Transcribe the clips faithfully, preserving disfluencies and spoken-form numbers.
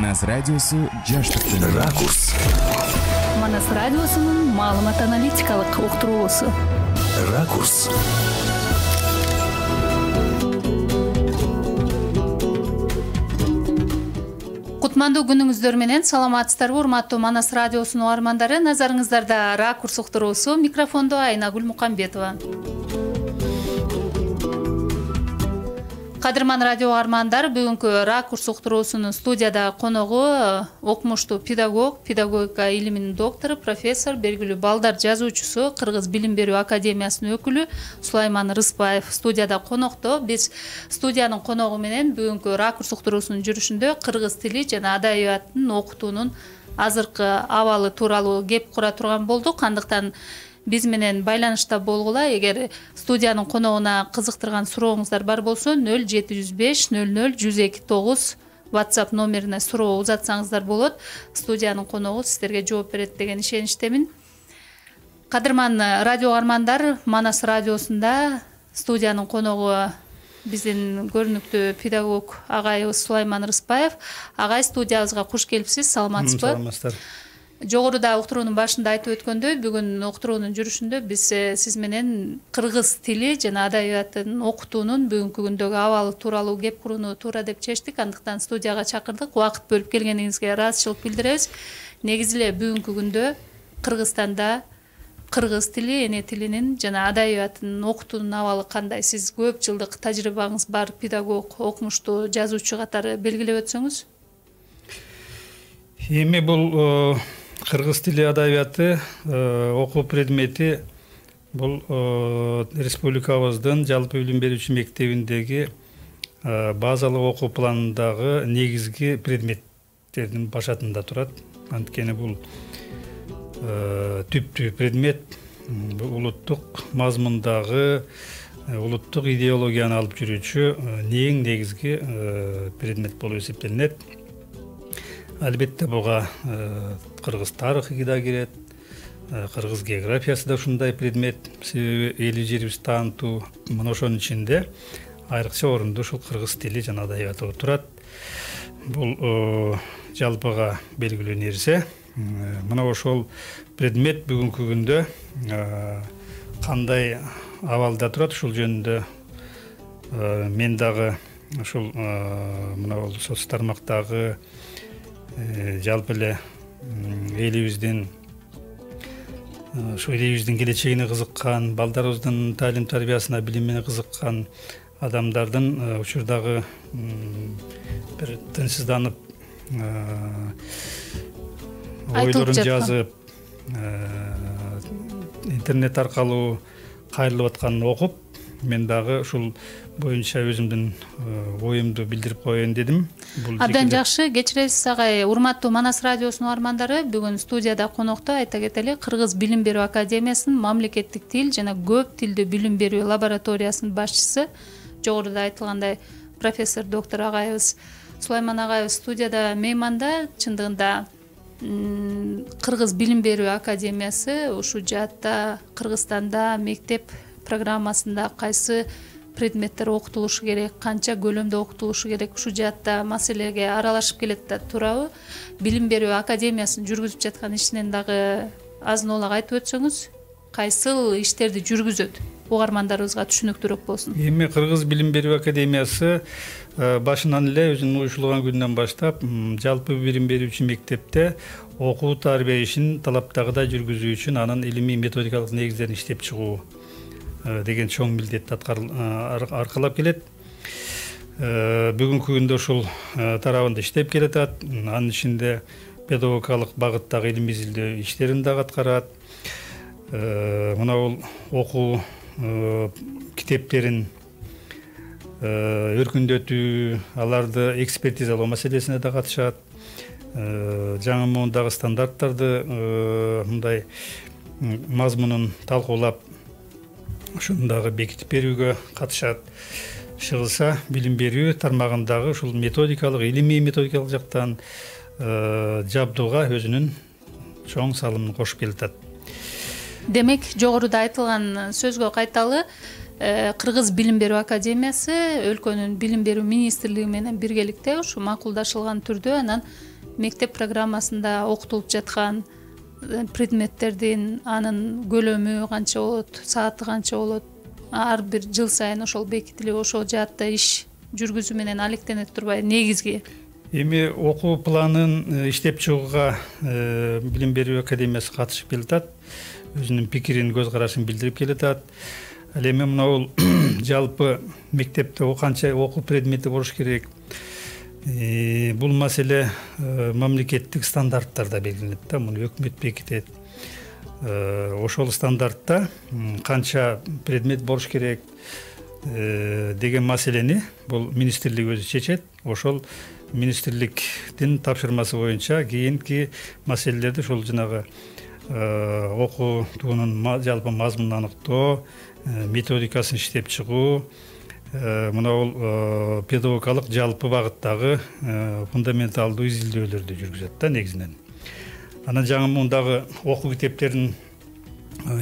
Манас радиосу жаштыктын Ракурс. Манас радиосунун маалымат аналитикалык уктуруусу. Ракурс. Кутмандуу күнүңүздөр менен саламатсыздарбы урматтуу Манас радиосунун угармандары. Назарыңыздарда Ракурс уктуруусу. Микрофондо Айнагүл Мукамбетова. Кадырман радио угармандар, бүгүнкү Ракурс уктуруусунун студияда коногу окумуштуу педагог, педагогика илиминин доктору, профессор, белгилүү балдар жазуучусу, Кыргыз билим берүү академиясынын өкүлү Сулайман Рыспаев студияда конокто. Биз студиянын коногу менен бүгүнкү Ракурс уктуруусунун жүрүшүндө кыргыз тили жана адабиятын окутуунун азыркы абалы тууралуу кеп кура турган болдук. Андыктан биз менен байланышта болгула. Эгер студиянын коногуна кызыктырган сурооңуздар бар болсо нөл жети жүз беш нөл нөл жүз эки тогуз WhatsApp номерине суроо узатсаңыздар болот. Студиянын коногу сиздерге жооп берет деген ишеничтемин. Кадырман радио угармандар, Манас радиосунда студиянын коногу биздин көрүнүктүү педагог агайыбыз Сулайман Рыспаев. Агай, студиябызга куш келипсиз. Саламатсызбы? Саламатсыздар. Жогоруда уктуруунун башында айтып өткөндөй, бүгүн уктуруунун жүрүшүндө биз сиз менен кыргыз тили жана адабиятын окутуунун бүгүнкү күндөгү абалы тууралуу кеп курууну туура деп чечтик. Андыктан студияга чакырдык. Убакыт бөлүп келгениңизге ыраазычылык билдиребиз. Негизи эле бүгүнкү күндө Кыргызстанда кыргыз тили, эне тилинин жана адабиятын окутуунун абалы кандай? Сиз көп жылдык тажрыйбаңыз бар педагог, окумуштуу, жазуучу катары белгилеп өтсөңүз. Эми бул кыргыз тили адабияты окуу предмети бул республикабыздын жалпы билим берүүчү мектебиндеги базалык окуу планындагы негизги предметтердин башатында турат. Анткени бул түптүү предмет, улуттук мазмундагы улуттук идеологияны алып жүрүүчү эң негизги предмет болуп эсептелинет. Албетте буга кыргыз тарыхы да кирет, кыргыз географиясы да ушундай предмет. Себеби эли жерибиз таанытуу, мына ошонун ичинде айрыкча орунду ушул кыргыз тили жана адабияты турат. Бул жалпыга белгилүү нерсе. Мына ошол предмет бүгүнкү күндө кандай абалда турат, ушул жөнүндө мен дагы ушул мына бул соц тармактагы жалпы эле элибиздин ушу элибиздин келечегине кызыккан, балдарыбыздын таалим тарбиясына, билимине кызыккан адамдардын учурдагы бир тынчсызданып ойлорун жазып, интернет аркылуу кайрылып атканын окуп, мен дагы ушул боюнча өзүмдүн оюмду билдирип коеюн дедим. Абдан жакшы, кечиресиз агай. Урматтуу Манас радиосунун угармандары, бүгүн студияда конокто айта кетели, Кыргыз билим берүү академиясынын мамлекеттик тил жана көп тилдүү билим берүү лабораториясынын башчысы, жогоруда айтылгандай профессор доктор агайыбыз Сулайман агайыбыз студияда мейманда. Чындыгында Кыргыз билим берүү академиясы ушу жаатта Кыргызстанда мектеп программасында кайсы предметтер окутулушу керек, канча көлөмдө окутулушу керек, ушу жаатта маселеге аралашып келет да турабы? Билим берүү академиясынын жүргүзүп жаткан ишинен дагы азын олак айтып өтсөңүз, кайсыл иштерди жүргүзөт? Угармандарыбызга түшүнүктүүрөөк болсун. Эми Кыргыз билим берүү академиясы башынан эле өзүнүн уюшулган күнүнөн баштап жалпы билим берүүчү мектепте окуу тарбия ишин талаптагыдай жүргүзүү үчүн анын илимий методикалык негиздерин иштеп чыгуу деген чоң милдетти аркалап келет. Бүгүнкү күндө ушул тарабында иштеп келатат. Анын ичинде педагогикалык багыттагы илимий изилдөө иштерин дагы аткарат. Мына бул окуу китептерин өркүндөтүү, аларды экспертизалоо маселесине да катышат. Жаңы муундагы стандарттарды мындай мазмунун талкуулап ошону дагы бекитип берүүгө катышат. Чыгылса билим берүү тармагындагы ушул методикалык, илимий методикалык жактан жабдууга өзүнүн чоң салымын кошуп келатат. Демек, жогоруда айтылган сөзгө кайталы, Кыргыз билим берүү академиясы өлкөнүн билим берүү министрлиги менен биргеликте ушу макулдашылган түрдө анан мектеп программасында окутулуп жаткан предметтердин анын көлөмү канча болот, сааты канча болот, ар бир жыл сайын ошол бекитилип ошол жаатта иш жүргүзүү менен алектене турбайбы негизги? Эми окуу планын иштеп чыгууга билим берүү академиясы катышып келатат, өзүнүн пикирин, көз карашын билдирип келатат. Ал эми мына жалпы мектепте канча окуу предмети болуш керек, бул маселе мамлекеттик стандарттарда белгиленет да, муну өкмөт бекитет. Ошол стандартта канча предмет болуш керек деген маселени бул министрлик өзү чечет. Ошол министрликтин тапшырмасы боюнча кийинки маселелерди ошол жанагы окуутуунун жалпы мазмунун аныктоо, методикасын иштеп чыгуу, мына бул педагогикалык жалпы багыттагы фундаменталдуу изилдөөлөрдү жүргүзөт да негизинен. Анан жаңы мундагы окуу китептерин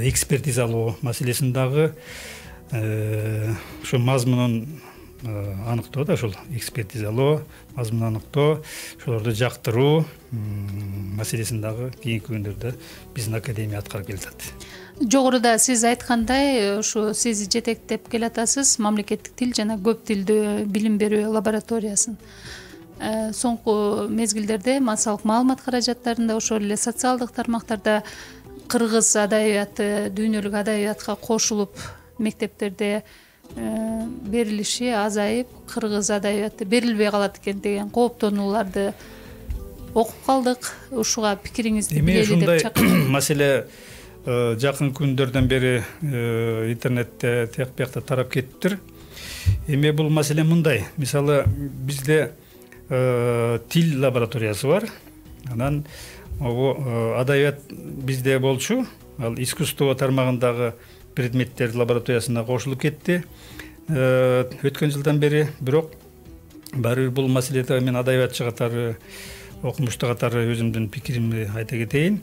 экспертизалоо маселесин дагы ошо мазмунун аныктоо да, ошол экспертизалоо, мазмунун аныктоо, ошолорду жактыруу маселесин дагы кийинки күндөрдө биздин академия аткарып келатат. Жогоруда сиз айткандай, ушу сиз жетектеп келатасыз мамлекеттик тил жана көп тилдүү билим берүү лабораториясын. Соңку мезгилдерде массалык маалымат каражаттарында, ошол эле социалдык тармактарда кыргыз адабияты, дүйнөлүк адабиятка кошулуп мектептерде берилиши азайып, кыргыз адабияты берилбей калат экен деген кооптонууларды окуп калдык. Ушуга пикириңизди билели деп чакырам. Эми маселе жакын күндөрдөн бери интернетте тияк биякта тарап кетиптир. Эми бул маселе мындай. Мисалы, бизде тил лабораториясы бар. Анан адабият бизде болчу, ал искусство тармагындагы предметтер лабораториясына кошулуп кетти өткөн жылдан бери. Бирок баары бир бул маселеде мен адабиятчы катары, окумушту катары өзүмдүн пикиримди айта кетейин.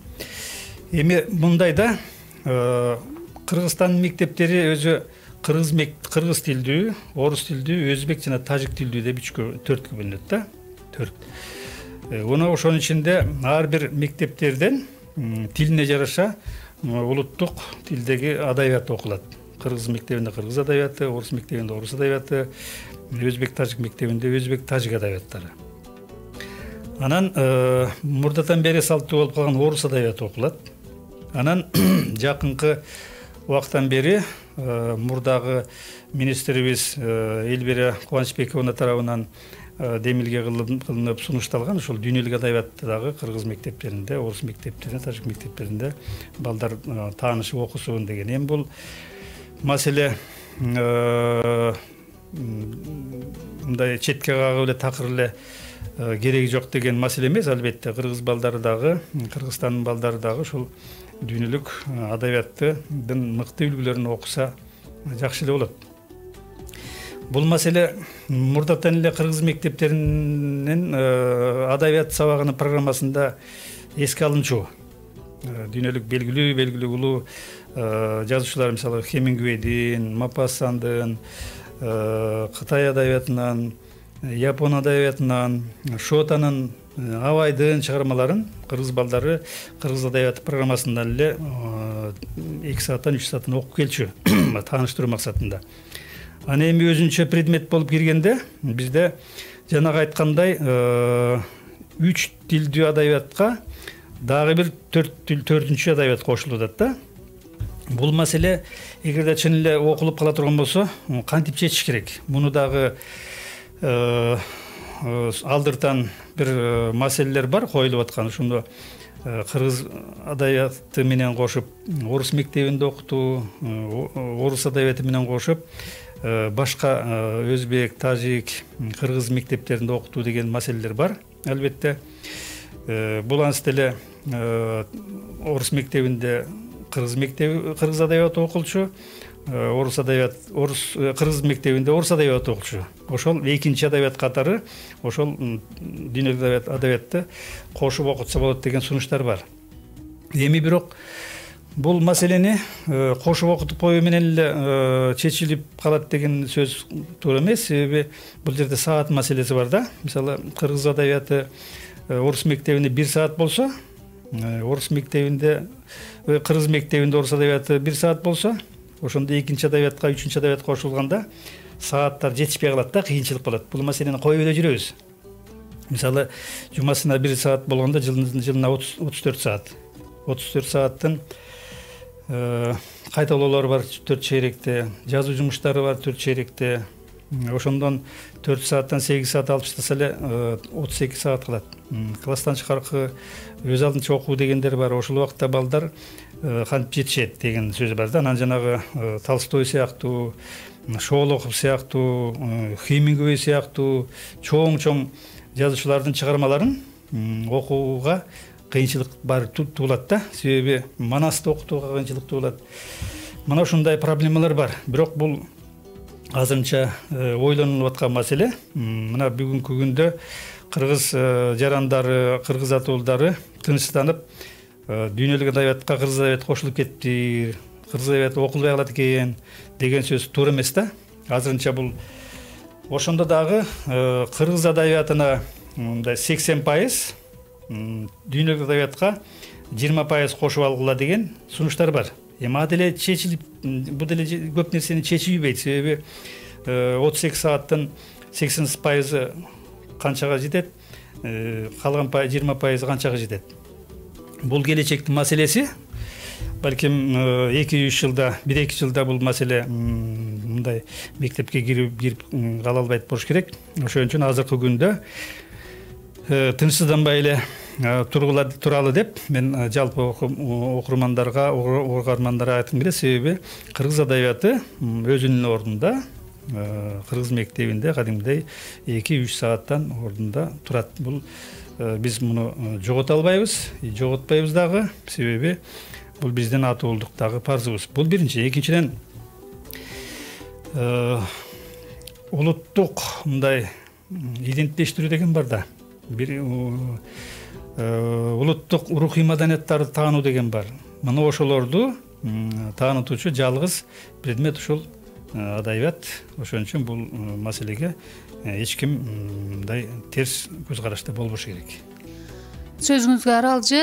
Эми мындай да, Кыргызстандын мектептери өзү кыргыз кыргыз тилдүү, орус тилдүү, өзбек жана тажик тилдүү деп үчкө, төрткө бөлүнөт да. төрт. Уну ошонун ичинде ар бир мектептерден тилине жараша улуттук тилдеги адабият окулат. Кыргыз мектебинде кыргыз адабияты, орус мектебинде орус адабияты, өзбек тажик мектебинде өзбек тажик адабияттары. Анан мурдатан бери салттуу болуп калган орус адабияты окулат. Анан жакынкы убактан бери мурдагы министрибиз Элбира Кубанычбековна тарабынан демилге кылынып сунушталган ошол дүйнөлүк адабиятты дагы кыргыз мектептеринде, орус мектептеринде, тажик мектептеринде балдар таанышып окусун деген. Эми бул маселе мындай четке кагып эле такыр эле кереги жок деген маселе эмес. Албетте кыргыз балдары дагы, Кыргызстандын балдары дагы ушул дүйнөлүк адабияттын мыкты үлгүлөрүн окуса жакшы эле болот. Бул маселе мурдатан эле кыргыз мектептеринин адабият сабагынын программасында эске алынчу. Дүйнөлүк белгилүү белгилүү улуу жазуучулар, мисалы Хемингуэйдин, Мапассандын, Кытай адабиятынан, Япон адабиятынан, Шотанын, Абайдын чыгармаларын кыргыз балдары кыргыз адабияты программасында эле эки сааттан үч сааттан окуп келчү, тааныштыруу максатында. Аны эми өзүнчө предмет болуп киргенде бизде жанагы айткандай үч тилдүү адабиятка дагы бир төртүнчү адабият кошулуп атат да. Бул маселе эгерде чын эле окулуп кала турган болсо, кантип чечиш керек? Муну дагы алдыртан бир маселелер бар коюлуп аткан. Ошондо кыргыз адабияты менен кошуп, орус мектебинде окутуу, орус адабияты менен кошуп, башка өзбек, тажик, кыргыз мектептеринде окутуу деген маселелер бар. Албетте, бул ансы деле орус мектебинде кыргыз мектеби, кыргыз адабияты окулчу, орус адабият, орус кыргыз мектебинде орус адабияты окулчу. Ошол экинчи адабият катары ошол дүйнөлүк адабиятты кошуп окутса болот деген сунуштар бар. Эми бирок бул маселени кошуп окутуп коюу менен эле чечилип калат деген сөз туура эмес. Себеби бул жерде саат маселеси бар да. Мисалы кыргыз адабияты орус мектебинде бир саат болсо, орус мектебинде, кыргыз мектебинде орус адабияты бир саат болсо, ошондо экинчи адабиятка, үчүнчү адабиятка кошулганда сааттар жетишпей калат да, кыйынчылык болот. Бул маселени коюп эле жүрөбүз. Мисалы, жумасына бир саат болгондо жылына отуз төрт саат. отуз төрт сааттын кайталоолору бар төрт чейректе, жазуу жумуштары бар төрт чейректе. Ошондон төрт сааттан сегиз саат алып таштаса эле отуз эки саат калат. Класстан тышкаркы өз алдынча окуу дегендер бар. Ошол убакта балдар кантип жетишет деген сөз бар да. Анан жанагы Толстой сыяктуу, Шолохов сыяктуу, Хемингуэй сыяктуу чоң-чоң жазуучулардын чыгармаларын окууга кыйынчылык бар туулат да. Себеби манасты окутууга кыйынчылык туулат. Мына ушундай проблемалар бар. Бирок бул азырынча ойлонулуп аткан маселе. Мына бүгүнкү күндө кыргыз жарандары, кыргыз атуулдары тынчсызданып, дүйнөлүк адабиятка кыргыз адабияты кошулуп кетти, кыргыз адабияты окулбай калат экен деген сөз туура эмес да. Азырынча бул ошондо дагы кыргыз адабиятына мындай сексен пайыз, дүйнөлүк адабиятка жыйырма пайыз кошуп алгыла деген сунуштар бар. Эми ал деле чечилип, бул деле көп нерсени чечип ийбейт. Себеби отуз эки сааттын сексен пайызы канчага жетет, калган жыйырма пайызы канчага жетет. Бул келечектин маселеси. Балким эки үч жылда, бир эки жылда бул маселе мындай мектепке кирип кирип кала албайт болуш керек. Ошон үчүн азыркы күндө тынчсызданбай эле туралы деп мен жалпы окурмандарга, угармандарга айткым келет. Себеби кыргыз адабияты өзүнүн ордунда, кыргыз мектебинде кадимдей эки үч сааттан ордунда турат. Бул биз муну жогото албайбыз, жоготпойбуз дагы. Себеби бул биздин атуулдуктагы парзыбыз. Бул биринчи. Экинчиден, улуттук мындай иденттештирүү деген бар да. Бир улуттук рухий маданияттарды таануу деген бар. Мына ошолорду таанытуучу жалгыз предмет ушул адабият. Ошон үчүн бул маселеге эч ким мындай терс көз карашта болбош керек. Сөзүңүзгө аралжы,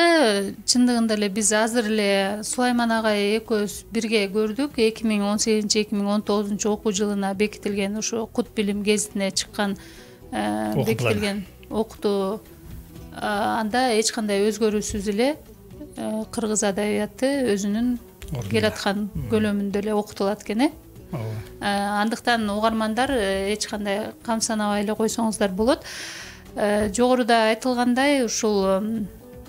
чындыгында эле биз азыр эле Сулайман агай экөөбүз бирге көрдүк. эки миң он сегизинчи эки миң он тогузунчу окуу жылына бекитилген ушу Кут билим гезитине чыккан бекитилген окутуу, анда эч кандай өзгөрүүсүз эле кыргыз адабияты өзүнүн келаткан көлөмүндө эле окутулат экен, э? Андыктан угармандар эч кандай камсанабай эле койсоңуздар болот. Жогоруда айтылгандай, ушул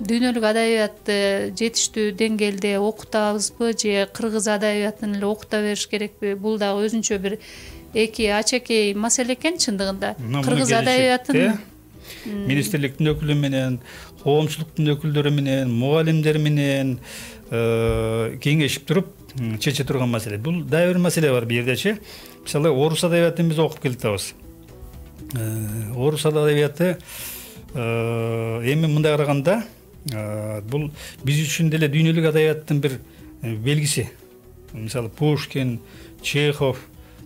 дүйнөлүк адабиятты жетиштүү деңгээлде окутабызбы же кыргыз адабиятын эле окута бериш керекпи? Бул дагы өзүнчө бир эки ачакей маселе экен чындыгында. Кыргыз адабиятын министрликтин өкүлү менен, коомчулуктун өкүлдөрү менен, мугалимдер менен кеңешип туруп чече турган маселе. Бул дагы бир маселе бар бу жердечи. Мисалы, орус адабиятын биз окуп келатабыз. Орус адабияты эми мындай караганда бул биз үчүн деле дүйнөлүк адабияттын бир белгиси. Мисалы, Пушкин, Чехов,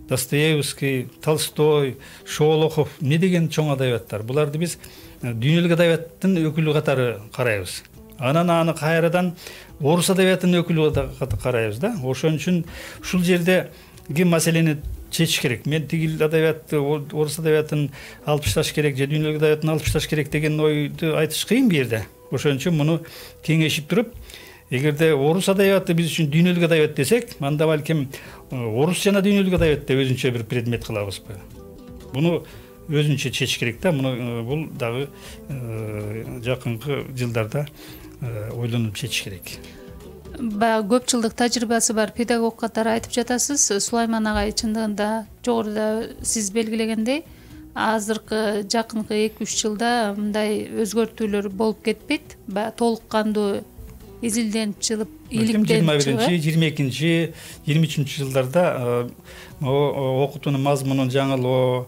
Достоевский, Толстой, Шолохов не деген чоң адабияттар. Буларды биз дүйнөлүк адабияттын өкүлү катары карайбыз. Анан аны кайрадан орус адабиятынын өкүлү катары карайбыз да. Ошон үчүн ушул жердеги маселени чечиш керек. Мен тигил адабиятты, орус адабиятын алып ташташ керек, же дүйнөлүк адабиятын алып ташташ керек деген ойду айтыш кыйын бу жерде. Ошон үчүн муну кеңешип туруп, эгерде орус адабияты биз үчүн дүйнөлүк адабият десек, анда балким орус жана дүйнөлүк адабиятты өзүнчө бир предмет кылабызбы? Буну өзүнчө чечиш керек да. Муну бул дагы жакынкы жылдарда ойлонуп чечиш керек. Баягы көп жылдык тажрыйбасы бар педагог катары айтып жатасыз. Сулайман агай, чындыгында жогоруда сиз белгилегендей, азыркы жакынкы эки үч жылда мындай өзгөртүүлөр болуп кетпейт. Баягы толук кандуу изилденип чыгып, иликтенип жыйырма биринчи, жыйырма экинчи, жыйырма үчүнчү жылдарда окутуунун мазмунун жаңылоо,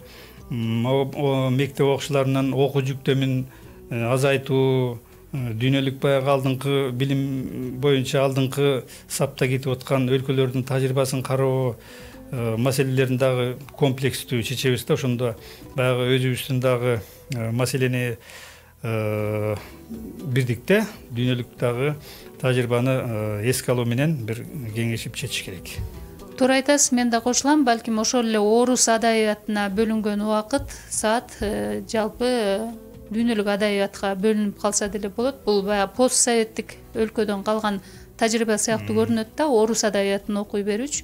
мектеп окуучуларынын окуу жүктөмүн азайтуу, дүйнөлүк баягы алдыңкы билим боюнча алдыңкы сапта кетип аткан өлкөлөрдүн тажрыйбасын кароо маселелерин дагы комплекстүү чечебиз да. Ошондо баягы өзүбүздүн дагы маселени бирдикте дүйнөлүк дагы тажрыйбаны эске алуу менен бир кеңешип чечиш керек. Туура айтасыз, мен да кошулам. Балким ошол эле орус адабиятына бөлүнгөн убакыт, саат жалпы дүйнөлүк адабиятка бөлүнүп калса деле болот. Бул баягы постсоветтик өлкөдөн калган тажрыйба сыяктуу көрүнөт да, орус адабиятын окуй берүүчү.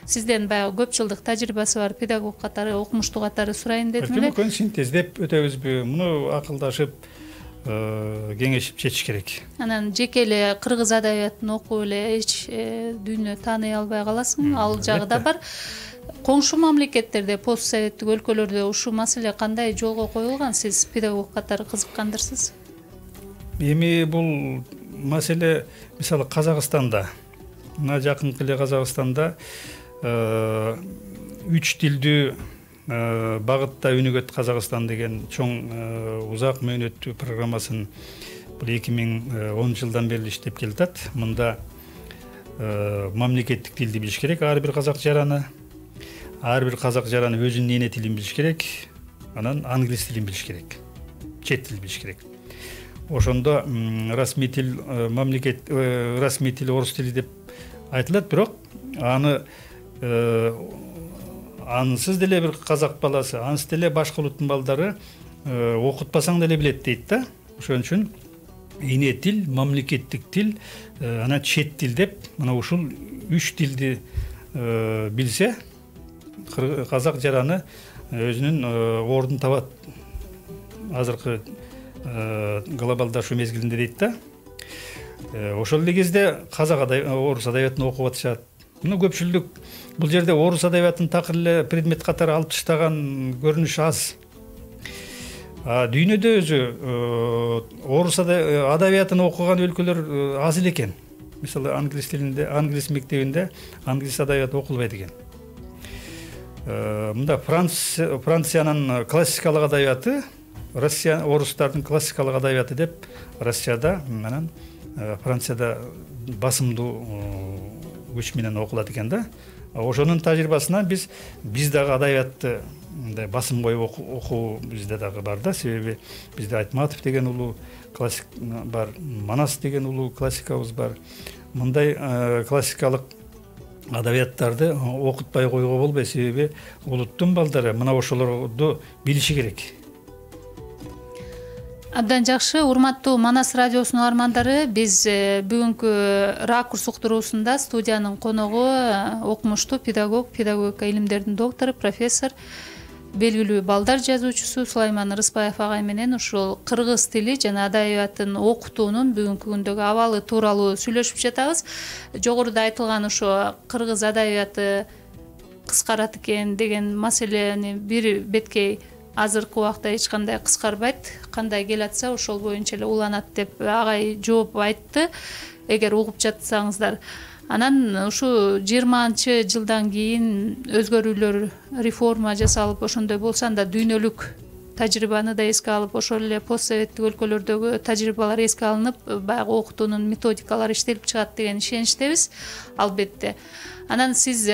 Сизден баягы көп жылдык тажрыйбасы бар педагог катары, окумуштуу катары сурайын дедим эле. Мүмкүн синтездеп өтөбүзбү? Муну акылдашып, кеңешип чечиш керек. Анан жеке эле кыргыз адабиятын окуп эле эч дүйнө тааный албай каласың. Ал жагы да бар. Коңшу мамлекеттерде, постсоветтик өлкөлөрдө ушул маселе кандай жолго коюлган? Сиз педагог катары кызыккандырсыз. Эми бул маселе мисалы Казакстанда, мына жакынкы эле Казакстанда үч тилдүү багытта өнүгөт Казакстан деген чоң узак мөөнөттүү программасын бул эки миң онунчу жылдан бери иштеп келатат. Мында мамлекеттик тилди билиш керек ар бир казак жараны. Ар бир казак жараны өзүнүн эне тилин билиш керек. Анан англис тилин билиш керек. Чет тил билиш керек. Ошондо расмий тил мамлекет расмий тил орус тили деп айтылат, бирок аны ансыз деле бир казак баласы, ансыз деле башка улуттун балдары окутпасаң деле билет дейт да. Ошон үчүн эне тил, мамлекеттик тил, анан чет тил деп мына ушул үч тилди билсе, казак жараны өзүнүн ордун табат азыркы глобалдашуу мезгилинде дейт да. Ошол эле кезде казак орус адабиятын окуп атышат. Муну көпчүлүк бул жерде орус адабиятын такыр эле предмет катары алып таштаган көрүнүш аз. Дүйнөдө өзү орус адабиятын окуган өлкөлөр аз эле экен. Мисалы англис тилинде, англис мектебинде англис адабияты окулбайт экен. Мында Франциянын классикалык адабияты, Россия орустардын классикалык адабияты деп Россияда, анан Францияда басымдуу күч менен окулат экен да. Ошонун тажрыйбасынан биз биз дагы адабиятты мындай басым коюп окуу бизде дагы бар да. Себеби бизде Айтматов деген улуу классик бар, Манас деген улуу классикабыз бар. Мындай классикалык адабияттарды окутпай койгого болбойт, себеби улуттун балдары мына ошолорду билиши керек. Абдан жакшы, урматтуу Манас радиосунун армандары, биз бүгүнкү ракурс уктуруусунда студиянын коногу окумуштуу педагог, педагогика илимдеринин доктору, профессор, белгилүү балдар жазуучусу Сулайман Рыспаев агай менен ушул кыргыз тили жана адабиятын окутуунун бүгүнкү күндөгү абалы тууралуу сүйлөшүп жатабыз. Жогоруда айтылган ошо кыргыз адабияты кыскарат экен деген маселени бир беткей азыркы убакта эч кандай кыскарбайт, кандай келатса ошол боюнча эле уланат деп агай жооп айтты, эгер угуп жатсаңыздар. Анан ушу жыйырманчы жылдан кийин өзгөрүүлөр, реформа жасалып, ошондой болсо анда дүйнөлүк тажрыйбаны да эске алып, ошол эле постсоветтик өлкөлөрдөгү тажрыйбалар эске алынып, баягы окутуунун методикалары иштелип чыгат деген ишеничтебиз, албетте. Анан сиз,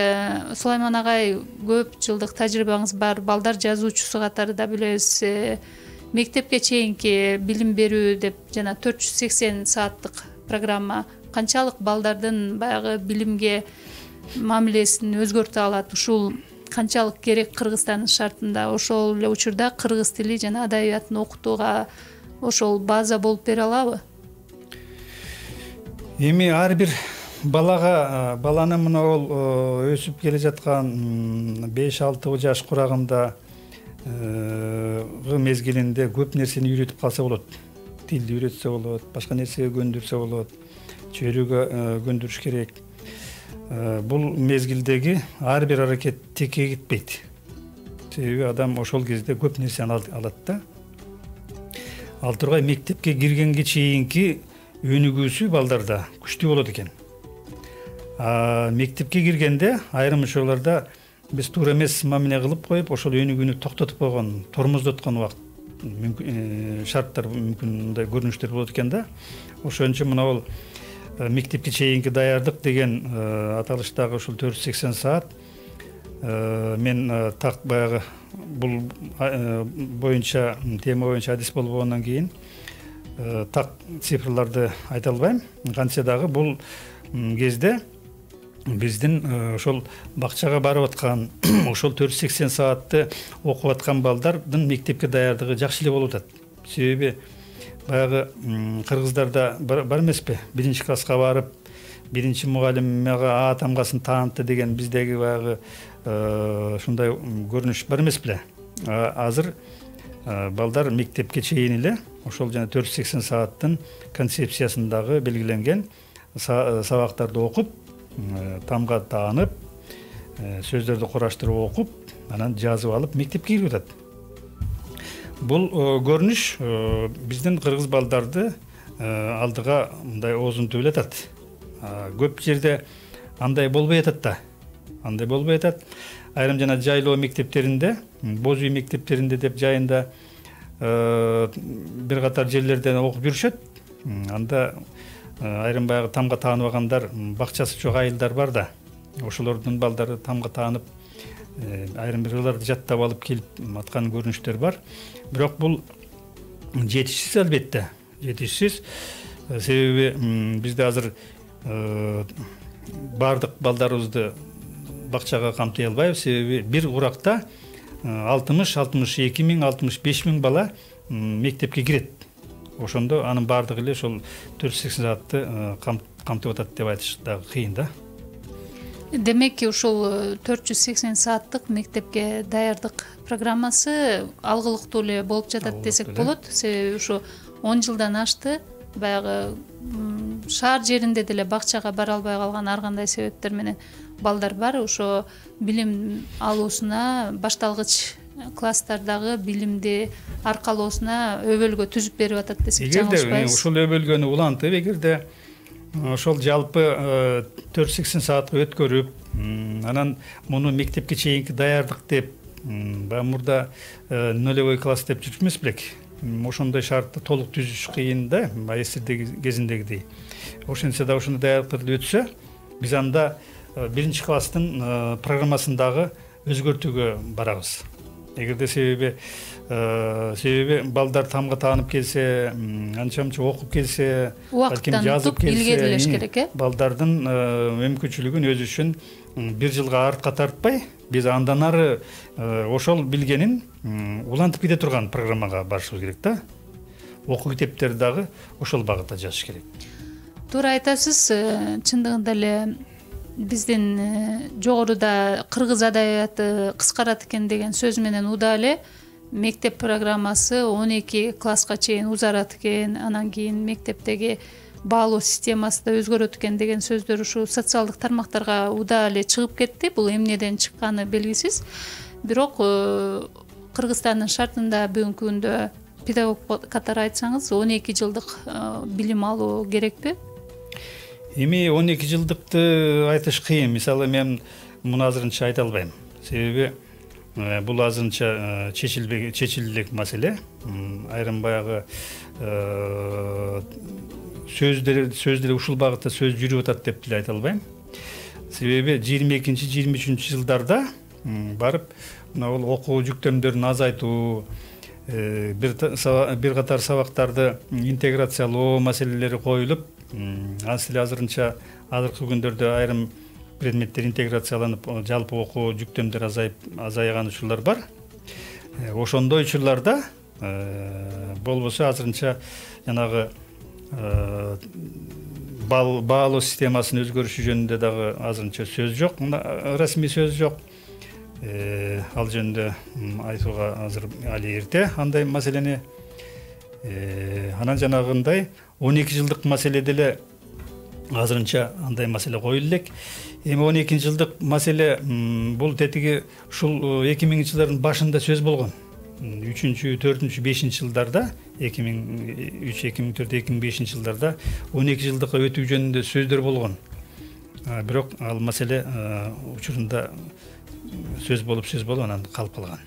Сулайман агай, көп жылдык тажрыйбаңыз бар, балдар жазуучусу катары да билебиз. Мектепке чейинки билим берүү деп жана төрт жүз сексен сааттык программа канчалык балдардын баягы билимге мамилесин өзгөртө алат? Ушул канчалык керек Кыргызстандын шартында? Ошол эле учурда кыргыз тили жана адабиятын окутууга ошол база болуп бере алабы? Эми ар бир балага, баланы мына ол өсүп келе жаткан беш алты жаш курагында мезгилинде көп нерсени үйрөтүп калса болот. Тилди үйрөтсө болот, башка нерсеге көндүрсө болот, чөйрөгө көндүрүш керек. Бул мезгилдеги ар бир аракет текке кетпейт. Себеби адам ошол кезде көп нерсени алат да. Ал тургай мектепке киргенге чейинки өнүгүүсү балдарда күчтүү болот экен. Мектепке киргенде айрым учурларда биз туура эмес мамиле кылып коюп, ошол өнүгүүнү токтотуп койгон, тормоздоткон убакыт шарттар мүмкүн мындай көрүнүштөр болот экен да. Ошон үчүн мына бул мектепке чейинки даярдык деген аталыштагы ушул төрт жүз сексен саат мен так баягы бул боюнча тема боюнча адис болбогондон кийин так цифрларды айта албайм. Кантсе дагы бул кезде биздин ошол бакчага барып аткан ошол төрт жүз сексен саатты окуп аткан балдардын мектепке даярдыгы жакшы эле болуп атат. Себеби баягы кыргыздарда бар эмеспи, биринчи класска барып биринчи мугалим мага А тамгасын таанытты деген биздеги баягы ушундай көрүнүш бар эмес беле. Азыр балдар мектепке чейин эле ошол жана төрт жүз сексен сааттын концепциясындагы белгиленген сабактарды окуп, тамга таанып, сөздөрдү кураштырып окуп, анан жазып алып мектепке кирип атат. Бул көрүнүш биздин кыргыз балдарды алдыга мындай оозунтуп эле атат. Көп жерде андай болбой атат да. Андай болбой атат. Айрым жана жайлоо мектептеринде, боз үй мектептеринде деп жайында бир катар жерлерден окуп жүрүшөт. Анда айрым баягы тамга тааныбагандар, бакчасы жок айылдар бар да. Ошолордун балдары тамга таанып, айрым бирлерди жаттап алып келип аткан көрүнүштөр бар. Бирок бул жетишсиз албетте. Жетишсиз. Себеби бизде азыр бардык балдарыбызды бакчага камтый албайбыз. Себеби бир уракта алтымыш алтымыш эки миң алтымыш беш миң бала мектепке кирет. Ошондо анын бардыгы эле ошол төрт жүз сексен саатты камтып атат деп айтыш дагы кыйын да. Демек, ушул төрт жүз сексен сааттык мектепке даярдык программасы алгылыктуу эле болуп жатат десек болот. Себеби ушу он жылдан ашты. Баягы шаар жеринде деле бакчага бара албай калган ар кандай себептер менен балдар бар. Ошо билим алуусуна, башталгыч класстардагы билимди аркалоосуна өбөлгө түзүп берип атат десек жаңылышпайбыз. Эгерде ушул өбөлгөнү улантып, эгерде ошол жалпы төрт жүз сексен саатка өткөрүп, анан муну мектепке чейинки даярдык деп, баягы мурда нулевой класс деп жүрүп эмес белек. Ошондой шартты толук түзүш кыйын да, маэстрдеги кезиндегидей. Ошентсе да ошондой даярдыктарды өтсө, биз анда биринчи класстын программасындагы өзгөртүүгө барабыз. Эгерде себеби себеби балдар тамга таанып келсе, анча-мынча окуп келсе, балким жазып келсе, балдардын мүмкүнчүлүгүн өзү үчүн бир жылга артка тартпай, биз андан ары ошол билгенин улантып кете турган программага барышыбыз керек да. Окуу китептери дагы ошол багытта жазыш керек. Туура айтасыз. Чындыгында эле биздин жогоруда кыргыз адабияты кыскарат экен деген сөз менен уда эле мектеп программасы он эки класска чейин узарат экен, анан кийин мектептеги баалоо системасы да өзгөрөт экен деген сөздөр ушу социалдык тармактарга уда эле чыгып кетти. Бул эмнеден чыкканы белгисиз. Бирок Кыргызстандын шартында бүгүнкү күндө педагог катары айтсаңыз он эки жылдык билим алуу керекпи? Эми он эки жылдыкты айтыш кыйын. Мисалы мен муну азырынча айта албайм. Себеби бул азырынча чечилбеген чечилилек маселе. Айрым баягы сөздөр сөздөр ушул багытта сөз жүрүп атат деп деле айта албайм. Себеби жыйырма экинчи жыйырма үчүнчү жылдарда барып мына бул окуу жүктөмдөрүн азайтуу, бир бир катар сабактарды интеграциялоо маселелери коюлуп, анысы эле азырынча азыркы күндөрдө айрым предметтер интеграцияланып, жалпы окуу жүктөмдөр азайып азайган учурлар бар. Ошондой учурларда болбосо азырынча жанагы баалоо системасынын өзгөрүшү жөнүндө дагы азырынча сөз жок, расмий сөз жок. Ал жөнүндө айтууга азыр али эрте андай маселени. Анан жанагындай он эки жылдык маселеде эле азырынча андай маселе коюлу элек. Эми он экинчи жылдык маселе бул тетиги ушул эки миңинчи жылдардын башында сөз болгон. үчүнчү, төртүнчү, бешинчи жылдарда, эки миң үч, эки миң төрт, эки миң бешинчи жылдарда он эки жылдыкка өтүү жөнүндө сөздөр болгон. Бирок ал маселе учурунда сөз болуп сөз болуп анан калып калган.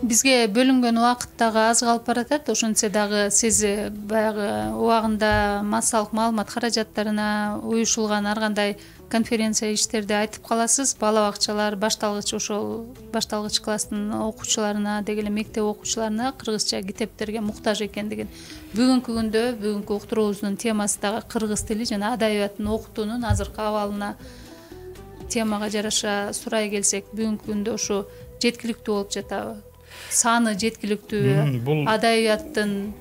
Бизге бөлүнгөн убакыт дагы аз калып баратат. Ошентсе дагы сиз баягы убагында массалык маалымат каражаттарына уюшулган ар кандай конференция иштерди айтып каласыз? Бала бакчалар, башталгыч ошол башталгыч класстын окуучуларына деги эле мектеп окуучуларына кыргызча китептерге муктаж экендигин. Бүгүнкү күндө бүгүнкү уктуруубуздун темасы дагы кыргыз тили жана адабиятын окутуунун азыркы абалына темага жараша сурай келсек, бүгүнкү күндө ушу жеткиликтүү болуп жатабы? Саны жеткиликтүүбү? Бул адабияттын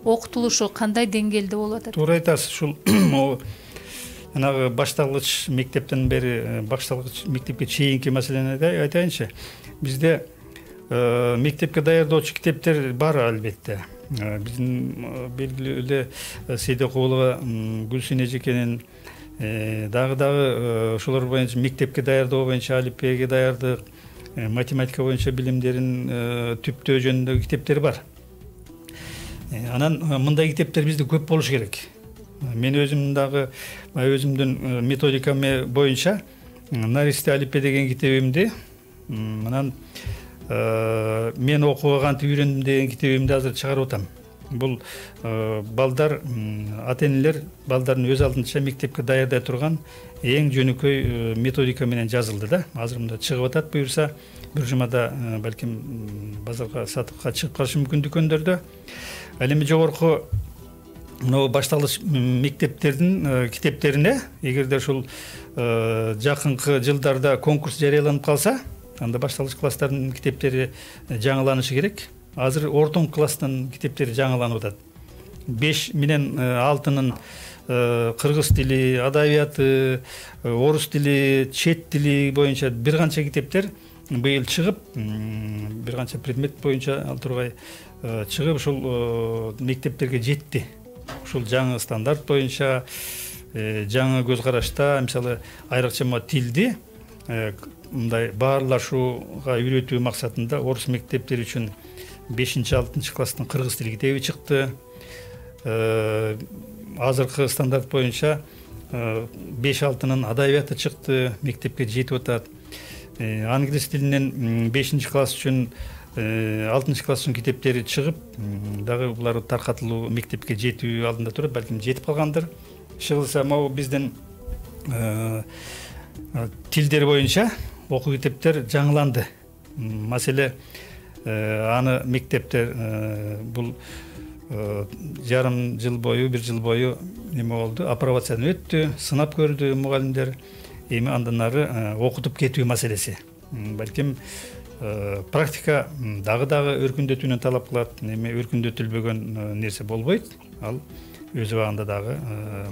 окутулушу кандай деңгээлде болуп атат? Туура айтасыз. Ушул жанагы башталгыч мектептен бери башталгыч мектепке чейинки маселени айтайынчы. Бизде мектепке даярдоочу китептер бар албетте. Биздин белгилүү эле Сейдекулова Гүлсүн эжекенин дагы дагы ошолор боюнча мектепке даярдоо боюнча алифбеге даярдык, математика боюнча билимдерин түптөө жөнүндөгү китептер бар. Анан мындай китептер бизде көп болуш керек. Мен өзүм дагы өзүмдүн методикам боюнча Наристе алифбе деген китебимди, анан мен окууга кантип үйрөндүм деген китебимди азыр чыгарып атам. Бул балдар, ата-энелер балдарын өз алдынча мектепке даярдай турган эң жөнөкөй методика менен жазылды да. Азыр мында чыгып атат, буюрса бир жумада балким базарга сатыкка чыгып калышы мүмкүн дүкөндөрдө. Ал эми жогорку мына башталгыч мектептердин китептерине эгерде ушул жакынкы жылдарда конкурс жарыяланып калса, анда башталгыч класстардын китептери жаңыланышы керек. Азыр ортоң класстын китептери жаңыланып атат. беш менен алтынын кыргыз тили, адабияты, орус тили, чет тили боюнча бир канча китептер быйыл чыгып, бир канча предмет боюнча ал тургай чыгып ушул мектептерге жетти. Ушул жаңы стандарт боюнча жаңы көз карашта, мисалы айрыкча тилди мындай баарлашууга үйрөтүү максатында орус мектептери үчүн бешинчи алтынчы класстын кыргыз тили китеби чыкты. Азыркы стандарт боюнча беш алтынын адабияты чыкты, мектепке жетип атат. Англис тилинен бешинчи класс үчүн алтынчы класс үчүн китептери чыгып, дагы булар таркатылуу мектепке жетүү алдында турат, балким жетип калгандыр. Чыгылса, могу биздин тилдер боюнча окуу китептер жаңыланды. Маселе аны мектептер бул жарым жыл бою, бир жыл бою неме болду, апробациядан өттү, сынап көрдү мугалимдер. Эми андан ары окутуп кетүү маселеси. Балким практика дагы-дагы өркүндөтүүнү талап кылат. Эми өркүндөтүлбөгөн нерсе болбойт. Ал өз убагында дагы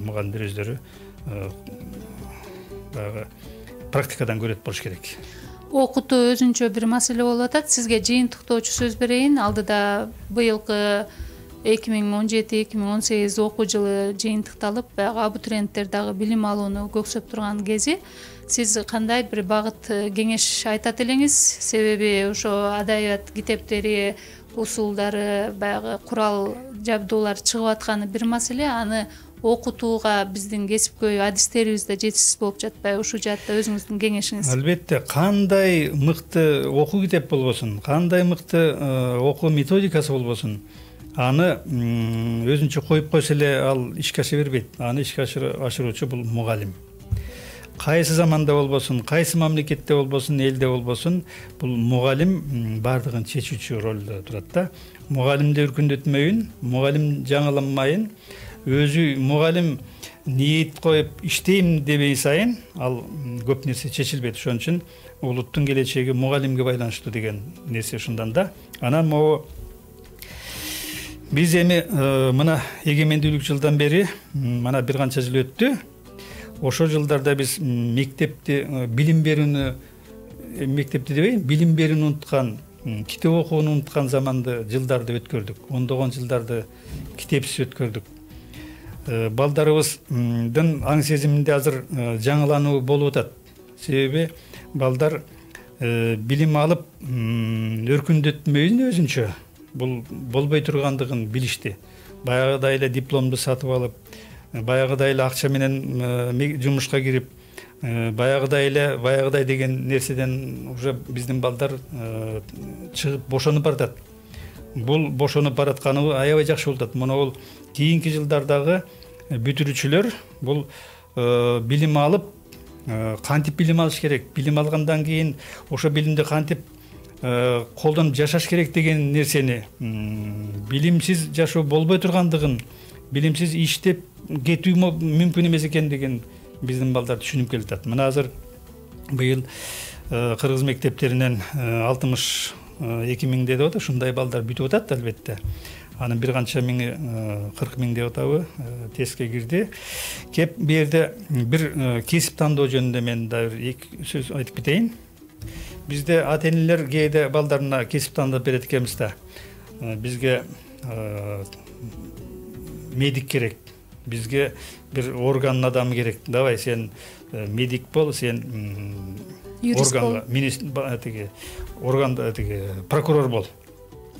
мугалимдер өздөрү дагы практикадан көрөт болуш керек. Окутуу өзүнчө бир маселе болуп атат. Сизге жыйынтыктоочу сөз берейин. Алдыда быйылкы эки миң он жети эки миң он сегиз окуу жылы жыйынтыкталып, баягы абитуриенттер дагы билим алууну көксөп турган кези. Сиз кандай бир багыт кеңеш айтат элеңиз? Себеби ошо адабият китептери, усулдары, баягы курал жабдуулар чыгып атканы бир маселе, аны окутууга биздин кесипкөй адистерибиз да жетишсиз болуп жатпайбы? Ушул жаатта өзүңүздүн кеңешиңиз? Албетте, кандай мыкты окуу китеп болбосун, кандай мыкты окуу методикасы болбосун, аны өзүнчө коюп койсо эле ал ишке аша бербейт. Аны ишке ашыруучу бул мугалим. Кайсы заманда болбосун, кайсы мамлекетте болбосун, элде болбосун, бул мугалим бардыгын чечүүчү ролдо турат да. Мугалимди өркүндөтмөйүн, мугалим жаңыланмайын, өзү мугалим ниет коюп иштейм дебей сайын ал көп нерсе чечилбейт. Ошон үчүн улуттун келечеги мугалимге байланыштуу деген нерсе ушундан да. Анан могу биз эми мына эгемендүүлүк жылдан бери мына бир канча жыл өттү. Ошол жылдарда биз мектепти билим берүүнү, мектепти дебейин, билим берүүнү унуткан, китеп окууну унуткан заманды жылдарды өткөрдүк. Ондогон жылдарды китепсиз өткөрдүк. Балдарыбыздын аң сезиминде азыр жаңылануу болуп атат. Себеби балдар билим алып өркүндөтмөйүн өзүнчө бул болбой тургандыгын билишти. Баягыдай эле дипломду сатып алып, баягыдай эле акча менен жумушка кирип, баягыдай эле баягыдай деген нерседен уже биздин балдар чыгып бошонуп баратат. Бул бошонуп баратканы аябай жакшы болуп атат. Мына бул кийинки жылдардагы бүтүрүүчүлөр бул билим алып кантип билим алыш керек, билим алгандан кийин ошо билимди кантип колдонуп жашаш керек деген нерсени, билимсиз жашоо болбой тургандыгын, билимсиз иштеп кетүү мүмкүн эмес экендигин биздин балдар түшүнүп келатат. Мына азыр быйыл кыргыз мектептеринен алтымыш эки миң деп атат, ушундай балдар бүтүп атат албетте. Анын бир канча миңи, кырк миң деп атабы, тестке кирди. Кеп бу жерде бир кесип тандоо жөнүндө мен да бир эки сөз айтып кетейин. Бизде ата-энелер кээде балдарына кесип тандап берет экенбиз да. Бизге медик керек, бизге бир органдын адамы керек. Давай сен медик бол, сен органга, министр тиги органда тиги прокурор бол.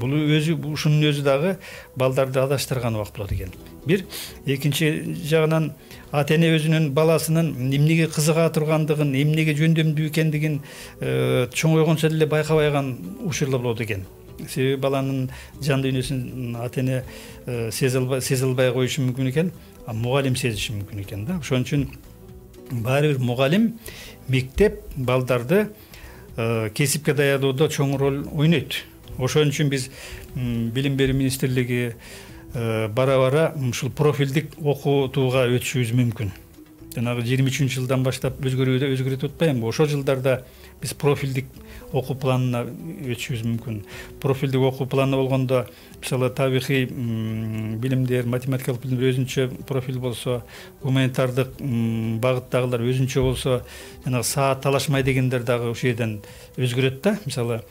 Бул өзү ушунун өзү дагы балдарды адаштырган убак болот экен. Бир, экинчи жагынан ата-эне өзүнүн баласынын эмнеге кызыга тургандыгын, эмнеге жөндөмдүү экендигин чоңойгончо деле байкабай калган учурлар болот экен. Себеби баланын жан дүйнөсүн ата-эне сезе албай коюшу мүмкүн экен, а мугалим сезиши мүмкүн экен да. Ошон үчүн баары бир мугалим, мектеп балдарды кесипке даярдоодо чоң роль ойнойт. Ошон үчүн биз билим берүү министрлиги бара-бара ушул профилдик окутууга өтүшүбүз мүмкүн. Жанагы жыйырма үчүнчү жылдан баштап өзгөрүүдө өзгөртүп атпаймынбы? Ошол жылдарда биз профилдик окуу планына өтүшүбүз мүмкүн. Профилдик окуу планы болгондо, мисалы, табигый билимдер, математикалык билимдер өзүнчө профиль болсо, гуманитардык багыттагылар өзүнчө болсо, жанагы саат талашмай дегендер дагы ошол жерден өзгөрөт да. Мисалы,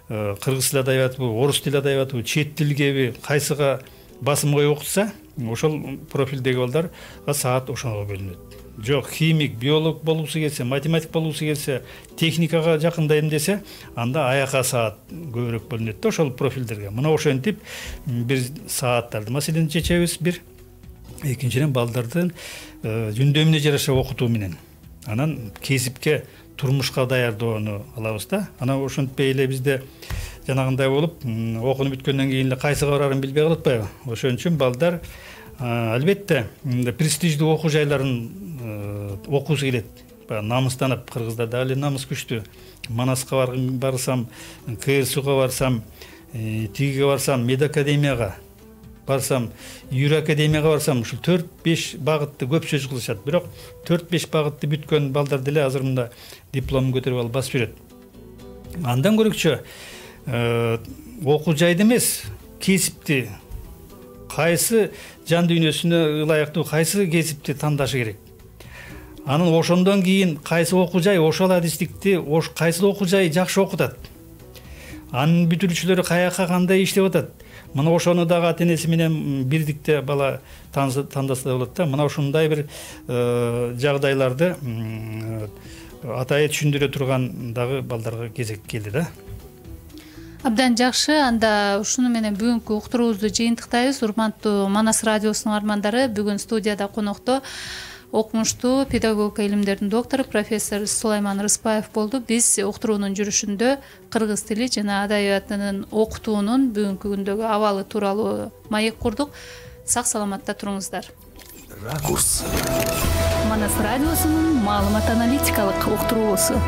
кыргыз тили адабиятыбы, орус тили адабиятыбы, чет тилгеби кайсыга басым коюп окутса, ошол профилдеги балдарга саат ошого бөлүнөт. Жок, химик, биолог болуусу келсе, математик болуусу келсе, техникага жакындайм десе, анда аяка саат көбүрөөк бөлүнөт да ошол профилдерге. Мына ошентип бир сааттарды маселени чечебиз бир. Экинчиден, балдардын жөндөмүнө жараша окутуу менен анан кесипке, турмушка даярдоону алабыз да. Анан ошентпей эле бизде жанагындай болуп, окунуп бүткөндөн кийин эле кайсыга барарын билбей калып атпайбы? Ошон үчүн балдар албетте престиждүү окуу жайларын окуусу келет. Намыстанып, кыргыздар дагы эле намыс күчтүү. Манаска барсам, КСУга барсам, тигиге барсам, медакадемияга барсам, юр академияга барсам, ушул төрт беш багытты көп сөз кылышат. Бирок төрт беш багытты бүткөн балдар деле азыр мында дипломун көтөрүп алып басып жүрөт. Андан көрөкчө окуу жайды эмес, кесипти, кайсы жан дүйнөсүнө ылайыктуу кайсы кесипти тандашы керек. Анан ошондон кийин кайсы окуу жай ошол адистикти, кайсы окуу жай жакшы окутат. Анын бүтүрүүчүлөрү каяка кандай иштеп атат. Мына ошону дагы ата-энеси менен бирдикте бала тандаса да болот да. Мына ушундай бир жагдайларды атайы түшүндүрө турган дагы балдарга кезек келди да. Абдан жакшы. Анда ушуну менен бүгүнкү уктуруубузду жыйынтыктайбыз. Урматтуу Манас радиосунун армандары, бүгүн студияда конокто окумуштуу педагогика илимдеринин доктору профессор Сулайман Рыспаев болду. Биз уктуруунун жүрүшүндө кыргыз тили жана адабиятынын окутуунун бүгүнкү күндөгү абалы тууралуу маек курдук. Сак саламатта туруңуздар. Ракурс. Манас радиосунун маалымат аналитикалык уктуруусу.